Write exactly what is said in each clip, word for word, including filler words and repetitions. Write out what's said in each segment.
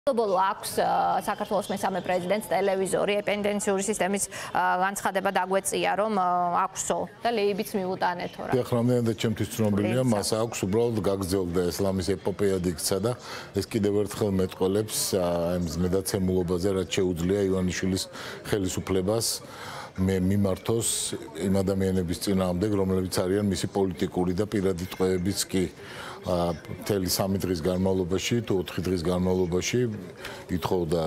Global აქვს საქართველოს მესამე პრეზიდენტს ტელევიზორი ეპენდენციური სისტემის განცხადება დაგვეწია რომ აქვსო და ლეიბიც მიუტანეთო რა. Დიახრამდენად ჩემთვის ცნობილია მას აქვს უბრალოდ გაგრძელდა ესლამის ეპოპეა დიქცა და ეს კიდევ ერთხელ მეტყველებს აი მედაცემულობაზე რაც შეუძლია ივანიშვილის ხელისუფლებას მე მიმართოს იმ ადამიანების წინააღმდეგ რომლებიც არიან მისი პოლიტიკური და პირადი ტყვეებიც კი მთელი სამი დღის განმავლობაში თუ ოთხი დღის განმავლობაში ითხოვდა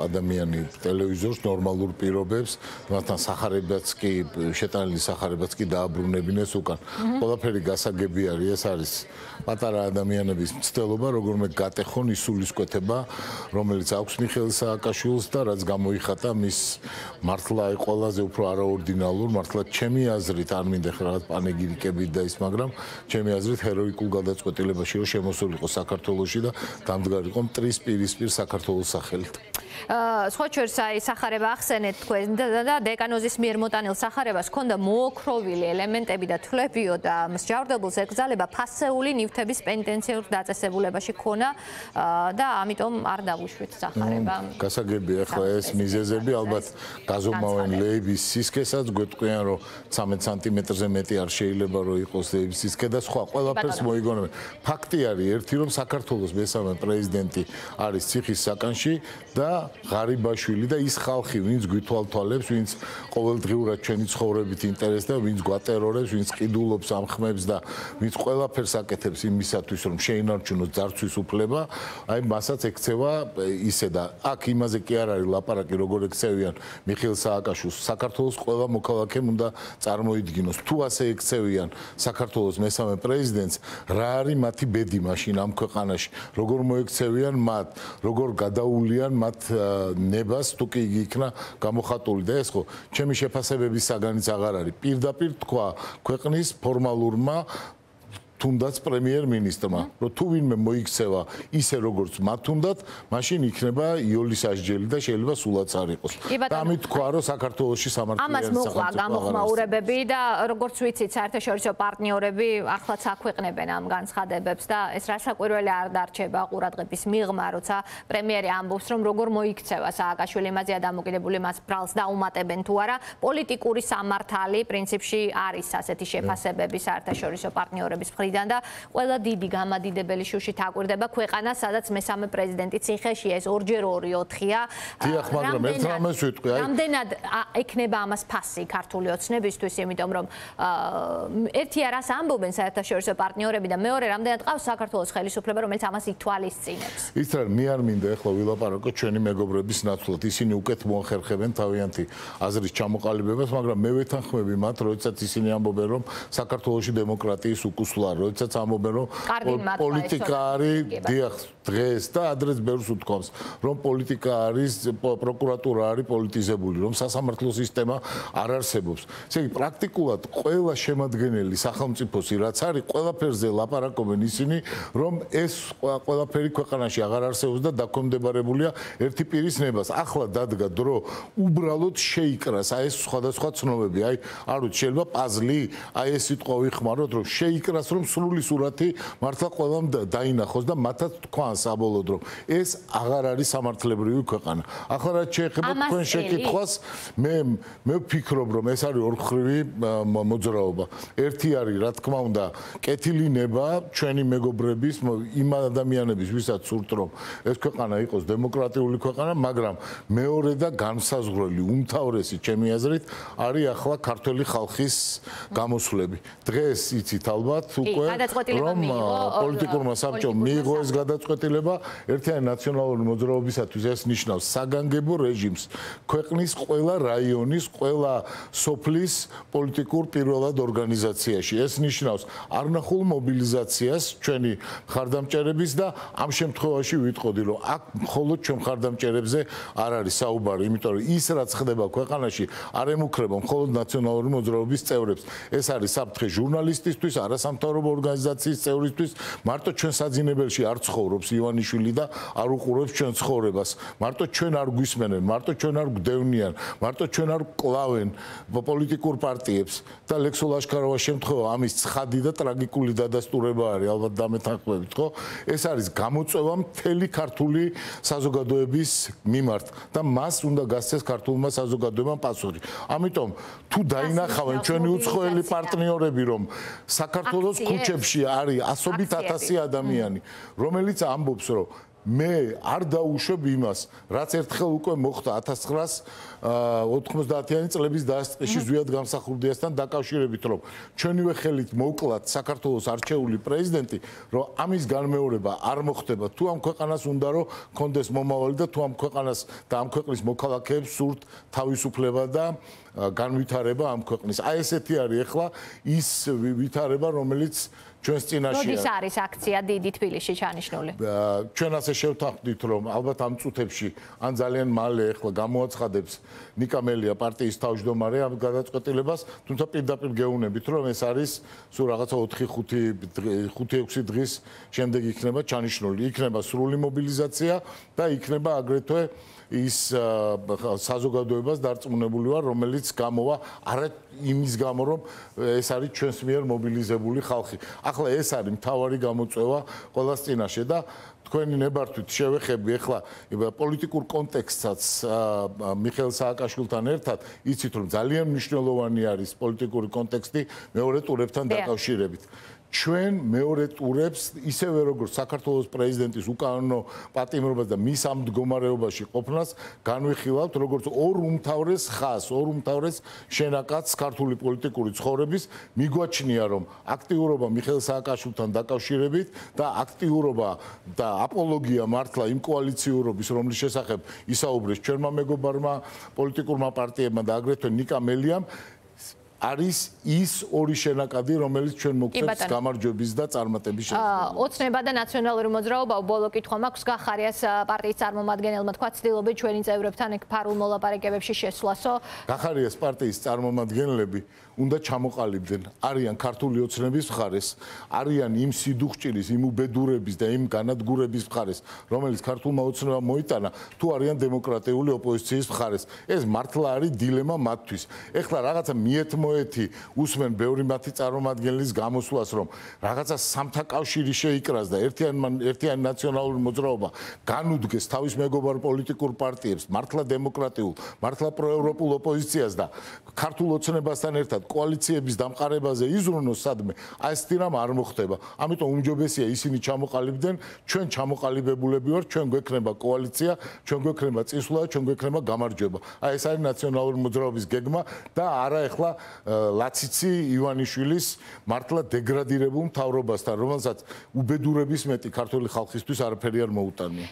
ადამიანი ტელევიზორს ნორმალურ პირობებს მასთან სახარებაც კი შეტანილი სახარებაც კი დააბრუნებინეს უკან ყველაფერი გასაგები არის ეს არის პატარა ადამიანების მცდელობა როგორმე გატეხონ ის სულისკვეთება რომელიც აქვს მიხეილ სააკაშვილს და რაც გამოიხატა მის მართლა ყველაზე უფრო არაორდინალურ მართლა ჩემი აზრით არ მინდა ხარ პანეგირიკებით და ის მაგრამ ჩემი აზრით ჰეროიკულ გადაწყვეტილებაში რომ შემოსულიყო საქართველოში და დამდგარიყო მტრის პირისპირ საქართველოს სახელით. სხვა შორის აი სახარება ახსენეთ თქვენ და დეკანოზის მიერ მოტანილ სახარებას ჰქონდა მოოქროვილი ელემენტები და თვლებიო და მსჯავრდებულს ეკრძალება ფასეული ნივთების პენტენციურ დაწესებულებაში ქონა და ამიტომ არ დავუშვით სახარება. გასაგებია ახლა ეს მიზეზები ალბათ გაზომავენ ლეიბის სისქესაც გვეტყვიან რომ ცამეტ სანტიმეტრზე მეტი არ შეიძლება რომ იყოს ლეიბის სისქე და სხვა ყველაფერს მოიგონებენ. ფაქტი არის ერთი რომ საქართველოს მესამე პრეზიდენტი არის ციხის საკანში და ღარიბაშვილი და ის ხალხი ვინც გვითვალთვალებს ვინც ყოველდღიურად ჩვენი ცხოვრებით ინტერესდება ვინც გვატერორებს ვინც ყიდულობს ამ ხმებს და ვინც ყველაფერს აკეთებს იმისათვის რომ შეინარჩუნოს ძარცვის უფლება აი მასაც ექცევა ისე და აქ იმაზე კი არ არის ლაპარაკი როგორ ექცევიან მიხეილ სააკაშვილს საქართველოს ყველა მოქალაქემ უნდა წარმოიდგინოს თუ ასე ექცევიან საქართველოს მესამე პრეზიდენტს რა არის მათი ბედი მაშინ ამ ქვეყანაში როგორ მოექცევიან მათ როგორ გადაულიან მათ ნებას თუ კი იგი იქნა გამოხატული და ეს ხო ჩემი შეფასებების საგანიც აღარ არის პირდაპირ თქვა ქვეყნის ფორმალურმა თუნდაც პრემიერ-მინისტრმა რომ თუ ვინმე მოიქცევა ისე როგორც მათ უნდათ მაშინ იქნება იოლის ასჯელი და შეიძლება სულაც არ იყოს და ამით თქვა რომ საქართველოში სამართლიანი ამას მოყვა გამოხმაურებები და როგორც ვიცით საერთაშორისო პარტნიორები ახლაც აქვეყნებენ ამ განცხადებებს და ეს რასაკვირველი არ დარჩება ყურადღების მიღმა როცა პრემიერი ამბობს რომ როგორ მოიქცევა სააკაშვილი იმაზეა დამოკიდებული მას ბრალს დაუმატებენ თუ არა პოლიტიკური სამართალი პრინციპში არის ასეთი შეფასებები საერთაშორისო პარტნიორების მხრიდან და ყველა დიდი გამადიდებელი შუშით აკვირდება ქვეყანა სადაც მესამე პრეზიდენტი ციხეში ეს ორჯერ ორი ოთხია დიახ მაგრამ ერთ რამეს ვიტყვი აი რამდენად ექნება ამას ფასი ქართული ოცნებისთვის იმიტომ რომ ერთი არას ამბობენ საერთაშორისო პარტნიორები და მეორე რამდენად ყავს საქართველოს ხელისუფლება რომელიც ამას ითვალისწინებს ის რა მე არ მინდა ახლა ვილაპარაკო ჩვენი მეგობრების ნაცვლად ისინი უკეთ მოახერხებენ თავიანთი აზრის ჩამოყალიბებას მაგრამ მე ვეთანხმები მათ როდესაც ისინი ამბობენ რომ საქართველოში დემოკრატიის უკუსლა როდესაც ამბობენ რომ პოლიტიკა არის დიახ დღეს და ადრეც ბევრს უთქვამს რომ პოლიტიკა არის პროკურატურა არის პოლიტიზებული რომ სასამართლო სისტემა არ არსებობს ესე იგი პრაქტიკულად ყველა შემადგენელი სახელმწიფოსი რაც არის ყველაფერზე ლაპარაკობენ ისინი რომ ეს ყველაფერი ქვეყანაში აღარ არსებობს და დაქვემდებარებულია ერთი პირის ნებას ახლა დადგა დრო უბრალოდ შეიკრას აი ეს სხვადასხვა ცნობები აი არ ვიცი შეიძლება პაზლი აი ეს სიტყვა ვიხმაროთ რომ შეიკრას რომ სრული სურათი მართლა ყველამ დაინახოს და მათაც თქვან საბოლოოდ რომ ეს აღარ არის სამართლებრივი ქვეყანა. ახლა რაც შეეხება თქვენ შეკითხვას მე მე ვფიქრობ რომ ეს არის ორმხრივი მოძრაობა. ერთი არის რა თქმა უნდა კეთილი ნება ჩვენი მეგობრების იმ ადამიანების ვისაც სურთ რომ ეს ქვეყანა იყოს დემოკრატიული ქვეყანა მაგრამ მეორე და განსაზღვრელი უმთავრესი ჩემი აზრით არის ახლა ქართველი ხალხის გამოსვლები. დღეს იცით ალბათ უკვე რომ პოლიტიკურმა საბჭომ მიიღო ეს გადაწყვეტილება ერთიანი ნაციონალური მოძრაობისათვის ეს ნიშნავს საგანგებო რეჟიმს ქვეყნის ყველა რაიონის ყველა სოფლის პოლიტიკურ პირველად ორგანიზაციაში ეს ნიშნავს არნახულ მობილიზაციას ჩვენი მხარდამჭერების და ამ შემთხვევაში ვიტყოდი რომ აქ მხოლოდ ჩვენ მხარდამჭერებზე არ არის საუბარი იმიტომ რომ ის რაც ხდება ქვეყანაში არ ემუქრება მხოლოდ ნაციონალური მოძრაობის წევრებს ეს არის საფრთხე ჟურნალისტისთვის არასამთავრობო ორგანიზაციის წევრისთვის მარტო ჩვენ საძინებელში არ ცხოვრობს ივანიშვილი და არ უყურებს ჩვენ ცხოვრებას. მარტო ჩვენ არ გვისმენენ, მარტო ჩვენ არ გვდევნიან, მარტო ჩვენ არ კლავენ პოლიტიკურ პარტიებს და ლექსო ლაშქაროვა შემთხვევა ამის ცხადი და ტრაგიკული დადასტურება არის, ალბათ დამეთანხმებით, ხო? ეს არის გამოწვევა მთელი ქართული საზოგადოების მიმართ და მას უნდა გასცეს ქართულმა საზოგადოებამ პასუხი. ამიტომ თუ დაინახავენ ჩვენი უცხოელი პარტნიორები, რომ საქართველოს ქუჩებში არის ასობით ათასი ადამიანი, რომელიც ამბობს, რომ მე არ დაუშვებ იმას, რაც ერთხელ უკვე მოხდა ათას ცხრაას ოთხმოცდაათიანი წლების დასაწყისში ზვიად გამსახურდიასთან დაკავშირებით, რომ ჩვენივე ხელით მოვკლათ საქართველოს არჩეული პრეზიდენტი, რომ ამის განმეორება არ მოხდება. თუ ამ ქვეყანას უნდა რომ კონდეს მომავალი და თუ ამ ქვეყანას და ამ ქვეყნის მოქალაქეებს სურთ თავისუფლება და განვითარება ამ ქვეყნის. აი ესეთი არის ახლა ის ვითარება, რომელიც ჩვენს წინაშეა. როდის არის აქცია დიდი თბილისში ჩანიშნული? ჩვენ ასე შევთანხმდით, რომ ალბათ ამ წუთებში ან ძალიან მალე ახლა გამოაცხადებს ნიკა მელია პარტიის თავმჯდომარე ამ გადაწყვეტილებას, თუმცა პირდაპირ გეუბნებით, რომ ეს არის სულ რაღაცა ოთხი ხუთი ექვსი დღის შემდეგ იქნება ჩანიშნული. იქნება სრული მობილიზაცია და იქნება აგრეთვე ის საზოგადოებას დარწმუნებული ვარ, რომელიც გამოვა არა იმის გამო, რომ ეს არის ჩვენს მიერ მობილიზებული ხალხი. ახლა ეს არის მთავარი გამოწვევა ყველას წინაშე და თქვენი ნებართვით შევეხები ახლა პოლიტიკურ კონტექსტსაც მიხეილ სააკაშვილთან ერთად, იცით რომ ძალიან მნიშვნელოვანი არის პოლიტიკური კონტექსტი მეორე ტურებთან დაკავშირებით. ჩვენ მეორე ტურებს ისევე როგორც საქართველოს პრეზიდენტის უკანონო პატიმრობას და მის ამ მდგომარეობაში ყოფნას განვიხილავთ როგორც ორ უმთავრეს ხაზს, ორ უმთავრეს შენაკადს ქართული პოლიტიკური ცხოვრების. მიგვაჩნია რომ აქტიურობა მიხეილ სააკაშვილთან დაკავშირებით და აქტიურობა და აპოლოგია მართლა იმ კოალიციურობის, რომლის შესახებ ისაუბრეს ჩვენმა მეგობარმა პოლიტიკურმა პარტიებმა და აგრეთვე ნიკა მელიამ, არის ის ორი შენაკადი, რომელიც ჩვენ მოგწევს გამარჯვების და წარმატების შესაძლებლობას. ოცნება და ნაციონალური მოძრაობა ბოლო კითხვა მაქვს გახარიას პარტიის წარმომადგენელმა თქვა ცდილობენ ჩვენი წევრებთან ეგ ფარულ მოლაპარაკებებში შესვლასო. გახარიას პარტიის წარმომადგენლები უნდა ჩამოყალიბდნენ, არიან ქართული ოცნების მხარეს, არიან იმ სიდუხჭირის, იმ უბედურების და იმ განადგურების მხარეს, რომელიც ქართულმა ოცნებამ მოიტანა, თუ არიან დემოკრატიული ოპოზიციის მხარეს. ეს მართლა არის დილემა მათთვის. ეხლა რაღაცა მიეთმოეთი უსმენ ბევრი მათი წარმომადგენლის გამოსვლას, რომ რაღაცა სამთა კავშირი შეიკრას და ერთიანი ერთიანი ნაციონალური მოძრაობა განუდგეს თავის მეგობარ პოლიტიკურ პარტიებს, მართლა დემოკრატიულ, მართლა პროევროპულ ოპოზიციას და ქართულ ოცნებასთან ერთად კოალიციების დამყარებაზე იზრუნოს სადმე, აი ესეთი რამ არ მოხდება. ამიტომ უმჯობესია ისინი ჩამოყალიბდნენ, ჩვენ ჩამოყალიბებულები ვართ, ჩვენ გვექნება კოალიცია, ჩვენ გვექნება წინსვლა, ჩვენ გვექნება გამარჯვება. აი ეს არის ნაციონალური მოძრაობის გეგმა და არა ეხლა ლაციცი ივანიშვილის მართლა დეგრადირებულ მთავრობასთან, რომელსაც უბედურების მეტი ქართული ხალხისთვის არაფერი არ მოუტანია.